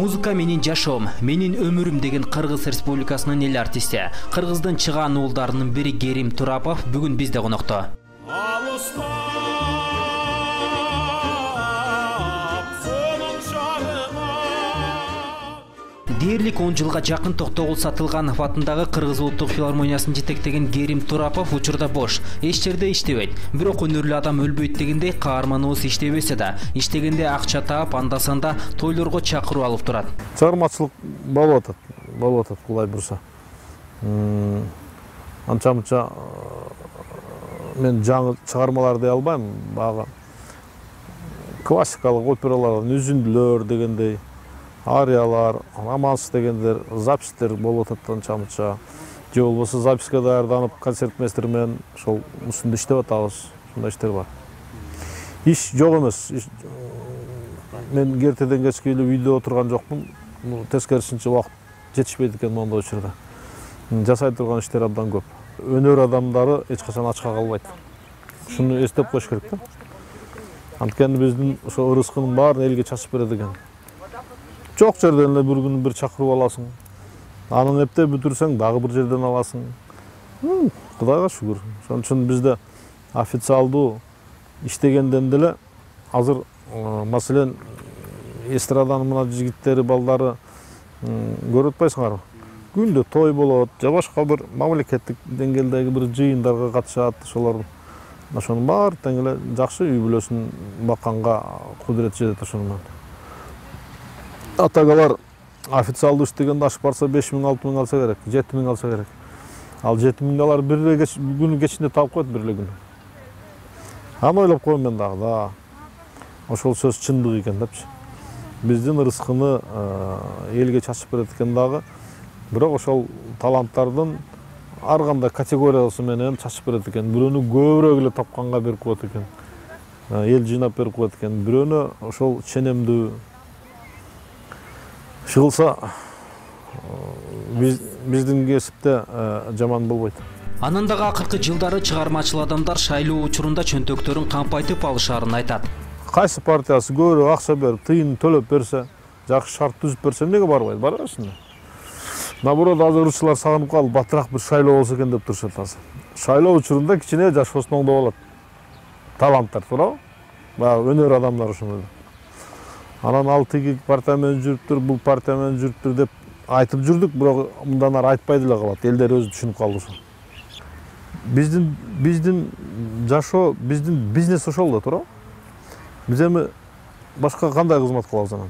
Музыка менин жашоом, менин өмүрүм деген Кыргыз Республикасынын эл артисти, Кыргыздын чыгаан уулдарынын бири Керим Турапов бүгүн бизде конокто. Дээрлик 10 жылга жакын Токтогул Сатылганов атындагы Кыргыз улуттук филармониясын жетектеген Керим Турапов учурда бош, эч жерде иштебейт. Бирок өнөрлүү адам өлбөйт дегендей каарманыбыз иштебесе да, иштегенде акча таап, анда-санда тойлорго чакырып алып турат. Чыгармачылык болуп атат кулай бурса. Анча-мынча мен жаңы чыгармалар дей албайм, багы классикалык опералар, үзүндүлөр дегендей, ариялар, романс дегендер, запистер болуп атат анча-мынча. Же болбосо записка даярданып, концертмейстер менен ошол үстүндө иштеп атабыз. Ушундай иштер бар. Иш жок эмес. Мен кертеден кечке эле үйдө отурган жокмун. Тескерисинче убакыт жетишпейт экен мондой учурда. Жасай турган иштер абдан көп. Өнөр адамдары эч качан ачка калбайт. Ушуну эстеп коюш керек да. Анткени биздин ошо ырыскынын баарын элге чачып берет экен. Жок жерден эле бир күнү бир чакырып аласың. Анын эптеп бүтүрсөң дагы бир жерден аласың. Кудайга шүгүр. Ошон үчүн бизде официалдуу иштегенден деле азыр маселен эстраданын мына жигиттери, балдары көрүп атпайсыңарбы? Күндө той болот, же башка бир мамлекеттик деңгээлдеги бир жыйындарга катышат, ошолор ошонун баары тең эле жакшы үй бүлөсүн бакканга кудурет жетет ошону менен. Атагалар официалдуу иштегенде аш барса 5.000-6.000 алса керек, 7.000 алса керек. Ал 7.000 алар бир эле күнү кечинде таап коет, бир эле күнү. Аны ойлоп койм мен дагы да. Ошол сөз чындык экен депчи. Биздин ырыскыны элге чачып берет экен дагы. Бирок ошол таланттардын ар кандай категориясы менен чачып берет экен. Бирөөнү көбүрөөк эле тапканга берип коет экен. Эл жыйнап берип коет экен. Бирөөнү ошол ченемдүү чыгылса биздин кесипте жаман болбойт. Анын дагы акыркы жылдары чыгармачыл адамдар шайлоо учурунда чөнтөктөрүн кампайтып алышаарын айтат. Кайсы партиясы көбүрөөк акча берип, тыйын төлөп берсе, жакшы шарт түзүп берсе, эмнеге барбайт? Бара берсин. Наоборот, азыр ырчылар сагынып калып, батыраак бир шайлоо болсо экен деп турушат азыр. Шайлоо учурунда кичине жашоосун оңдоп алат. Таланттар, туурабы? Баягы өнөр адамдар ошондой. Анан ал тиги партия менен жүрүптүр, бул партия менен жүрүптүр деп айтып жүрдүк, бирок мындан ары айтпай деле калат. Элдер өзү түшүнүп калды ошо. Биздин жашоо, биздин бизнес ошол да, туурабы? Биз эми башка кандай кызмат кылабыз анан?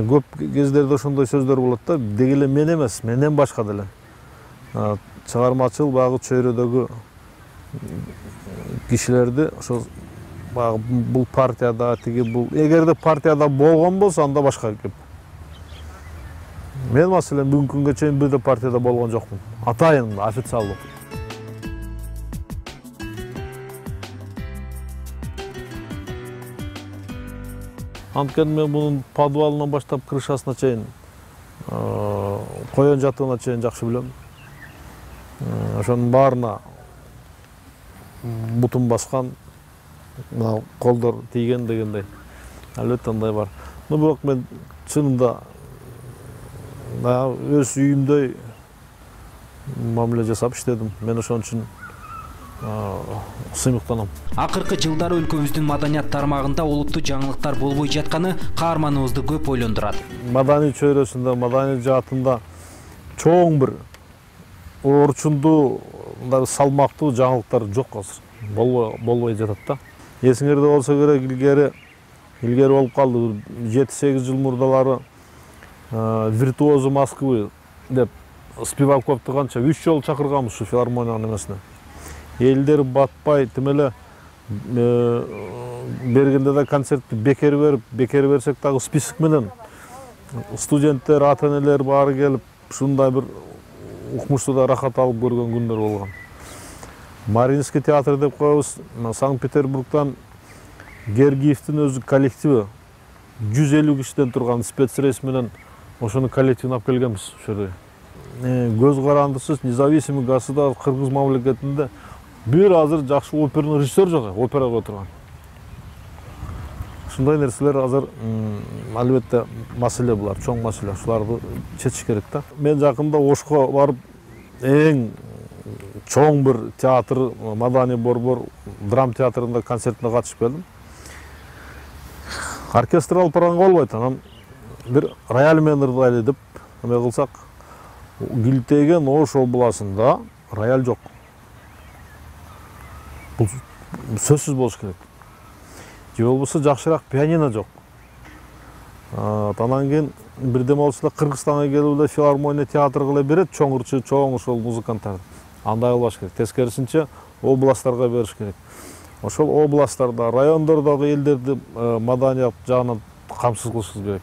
Көп кездерде ошондой сөздөр болот да, деги эле мен эмес, менден башка деле. Чыгармачыл багы чөйрөдөгү кишилерди ошо багы бул партияда, тиги бул, эгерде партияда болгон болсо, анда башка кеп. Мен маселен бүгүнкү күнгө чейин бир да партияда болгон жокмун. Атайын официалдуу. Анткени мен мунун подвалынан баштап крышасына чейин, коен жатыгына чейин жакшы билем. Ошонун баарына бутун баскан, мына колдор тийген дегендей. Албетте андай бар. Бирок мен чынында өз үйүмдөй мамиле жасап иштедим. Мен ошон үчүн сыймыктанам. Акыркы жылдары өлкөбүздүн маданият тармагында олуттуу жаңылыктар болбой жатканы каарманыбызды көп ойлондурат. Маданий чөйрөсүндө, маданий жаатында чоң бир орчундуу, салмактуу жаңылыктар жок азыр. Болбой жатат да. Эсиңерде болсо керек, илгери болуп калды. 7-8 жыл мурдалары виртуозу Москвы деп Спиваковду канча 3 жолу чакырганбыз ушу филармониянын эмесине. Элдер батпай, тим эле бергенде да концертти бекер берсек дагы список менен студенттер, ата-энелер баары келип, ушундай бир укмуштуу да рахат алып көргөн күндөр болгон. Мариинский театр деп коебуз, Санкт-Петербургдан Гергиевдин өзү коллективи 150 кишиден турган спецрейс менен ошону коллективин алып келгенбиз ошо жерге. Көз карандысыз независимый государство Кыргыз мамлекетинде бир азыр жакшы оперный режиссер жок, опера кое турган. Ушундай нерселер азыр албетте маселе, булар чоң маселе. Ушуларды чечиш керек да. Мен жакында Ошко барып эң чоң бир театр, Маданий борбор драм театрында концертине катышып келдим. Оркестр алып барганга болбойт. Анан бир рояль менен ырдайлы деп эме кылсак, Килтеген Ош областында рояль жок. Бул сөзсүз болуш керек. Же болбосо жакшыраак пианино жок. Анан кийин бирдеме болсо да Кыргызстанга келип эле филармония театр кыла берет, чоңурчу, чоң ошол музыканттарды. Андай кылбаш керек. Тескерисинче областтарга бериш керек. Ошол областтарда, райондордогу элдерди маданият жагынан камсыз кылышыбыз керек.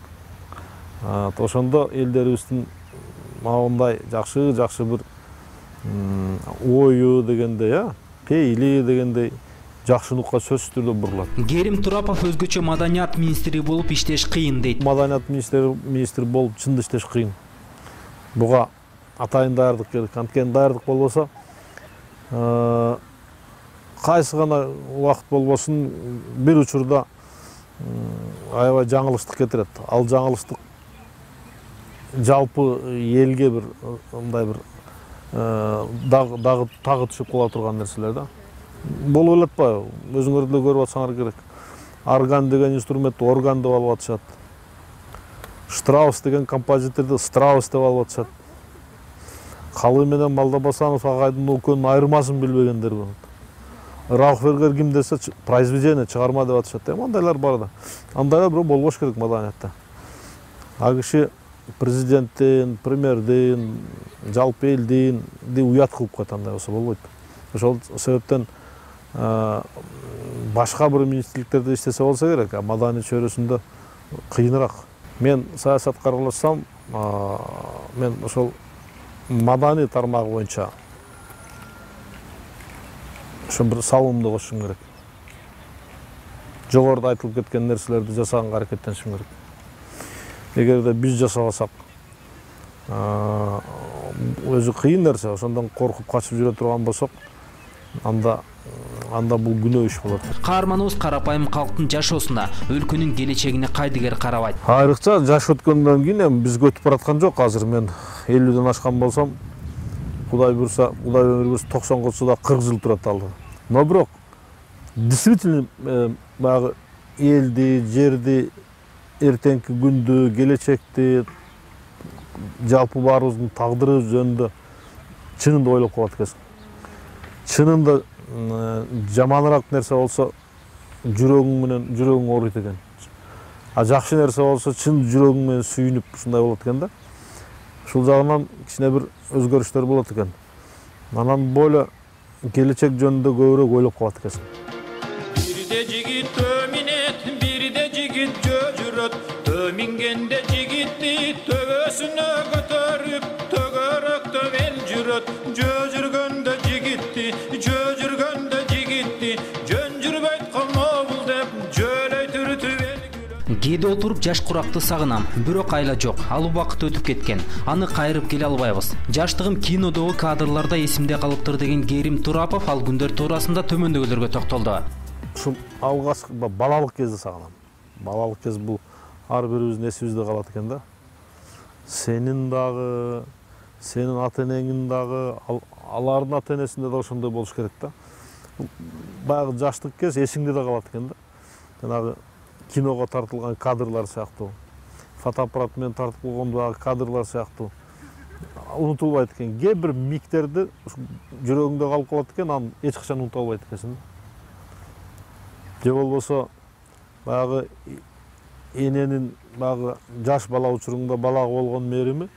Ошондо элдерибиздин мындай жакшы бир ою дегендей, пейили дегендей жакшылыкка сөзсүз түрдө бурулат. Керим Турапов өзгөчө маданият министри болуп иштеш кыйын дейт. Маданият министри болуп чын иштеш кыйын. Буга атайын даярдык керек. Анткени даярдык болбосо кайсы гана убакыт болбосун бир учурда аябай жаңылыштык кетирет. Ал жаңылыштык жалпы элге бир мындай бир тагы түшүп кала турган нерселер да. Болуп элетпайбы? Өзүңөр деле көрүп атсаңар керек. Орган деген инструментти орган деп алып атышат. Штраус деген композиторду Страус деп алып атышат. Калы менен Малдабасанов агайдын экөөнүн айырмасын билбегендер болот. Раухбергер ким десе произведение, чыгарма деп атышат. Мындайлар бар да. Андайлар бирок болбош керек маданиятта. А киши президенттин, премьердин, жалпы элдин уят кылып коет, андай болсо болбойт. Ошол себептен башка бир министрликтерде иштесе болсо керек, а маданий чөйрөсүндө кыйыныраак. Мен саясатка аралашсам, мен ошол маданий тармагы боюнча ошо бир салымды кошушум керек. Жогоруда айтылып кеткен нерселерди жасаганга аракеттенишим керек. Эгерде биз жасабасак, өзү кыйын нерсе, ошондон коркуп качып жүрө турган болсок, анда бул күнөө иш болот. Каарманыбыз карапайым калктын жашоосуна, өлкөнүн келечегине кайдыгер карабайт. Айрыкча жаш өткөндөн кийин эми бизге өтүп бараткан жок. Азыр мен 50ден ашкан болсом, Кудай буйрса, Кудай өмүр берсе 90 болсо да 40 жыл турат алды. Но бирок действительно баягы элди, жерди, эртеңки күндү, келечекти, жалпы баарыбыздын тагдыры жөнүндө чынында ойлоп калат экенсиң. Чынында жаманыраак нерсе болсо жүрөгүң ооруйт экен. А жакшы нерсе болсо чын жүрөгүң менен сүйүнүп ушундай болот экен да. Ушул жагынан кичине бир өзгөрүштөр болот экен. Анан бойло келечек жөнүндө көбүрөөк ойлоп калат экенсиң. Бирде жигит төминет, бирде жигит жөжүрөт, төмингенде жигитти төбөсүнө көтөрүп, төгөрөктө эл жүрөт, жөжүргөндө жигитти, жөжүргөндө жигитти, жөн жүрбөйт колмобул деп, жөлөй түрүтүп эл күлөт. Кээде отуруп жаш куракты сагынам, бирок айла жок. Ал убакыт өтүп кеткен. Аны кайрып келе албайбыз. Жаштыгым кинодогу кадрларда эсимде калыптыр деген Керим Турапов ал күндөр туурасында төмөндөгүлөргө токтолду. Ушул алгачкы балалык кезде сагынам. Балалык кез бул ар бирибиздин эсибизде калат экен да. Сенин дагы, сенин ата-энеңдин дагы, алардын ата-энесинде да ошондой болуш керек да. Баягы жаштык кез эсиңде да калат экен да. Жанагы киного тартылган кадрлар сыяктуу, фотоаппарат менен тартып койгондагы кадрлар сыяктуу унутулбайт экен. Кээ бир миктерди жүрөгүңдө калып калат экен, аны эч качан унута албайт экенсиң. Же болбосо баягы эненин баягы жаш бала учуруңда балага болгон мээрими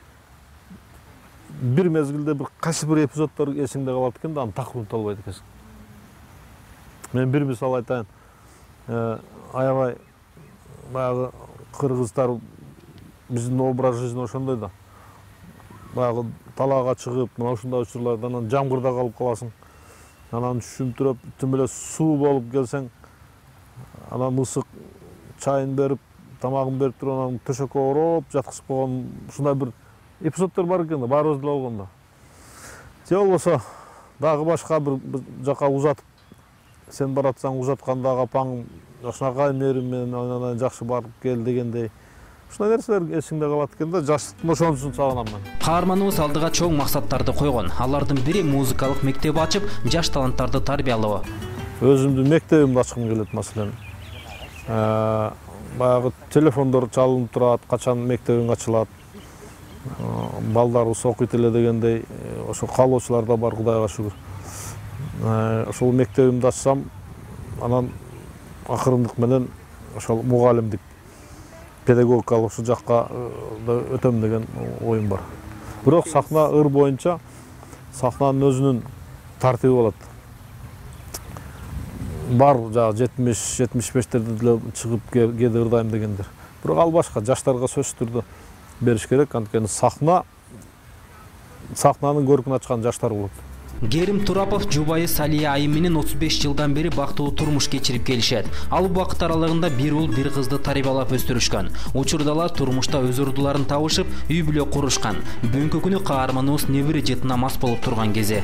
бир мезгилде бир кайсы бир эпизоддор эсиңде калат экен да, аны так унута албайт экенсиң. Мен бир мисал айтайын. Аябай баягы кыргыздар биздин образ жизни ошондой да. Баягы талаага чыгып, мына ушундай учурларда анан жамгырда калып каласың. Анан түшүмтүрөп, түм эле суу болуп келсең, анан ысык чайын берип, тамагын берип туруп, анан төшөккө ороп жаткызып койгон ушундай бир эпизоддор бар экен да, баарыбыз деле болгондо. Же болбосо дагы башка бир жака узатып, сен баратсаң узаткандагы апаң ошонака мээрим менен анан жакшы барып кел дегендей ушундай нерселер эсиңде калат экен да. Жаштыктын ошонусун сагынам мен. Каарманыбыз алдыга чоң максаттарды койгон. Алардын бири музыкалык мектеп ачып, жаш таланттарды тарбиялоо. Өзүмдүн мектебимди ачкым келет маселен. Баягы телефондор чалынып турат, качан мектебиң ачылат, балдарыбыз окуйт эле дегендей ошо каалоочулар да бар, Кудайга шүгүр. Ошол мектебимди ачсам, анан акырындык менен ошол мугалимдик, педагогикалык ушул жакка да өтөм деген оюм бар. Бирок сахна ыр боюнча сахнанын өзүнүн тартиби болот. Бар жагы 70-75-терде деле чыгып кээде ырдайм дегендер. Бирок ал башка, жаштарга сөзсүз түрдө бериш керек, анткени сахнанын көркүн ачкан жаштар болот. Керим Турапов жубайы Салия айым менен 35 жылдан бери бактылуу турмуш кечирип келишет. Ал убакыт аралыгында бир уул бир кызды тарбиялап өстүрүшкөн. Учурда алар турмушта өз ордуларын табышып, үй бүлө курушкан. Бүгүнкү күнү каарманыбыз небере жытына мас болуп турган кези.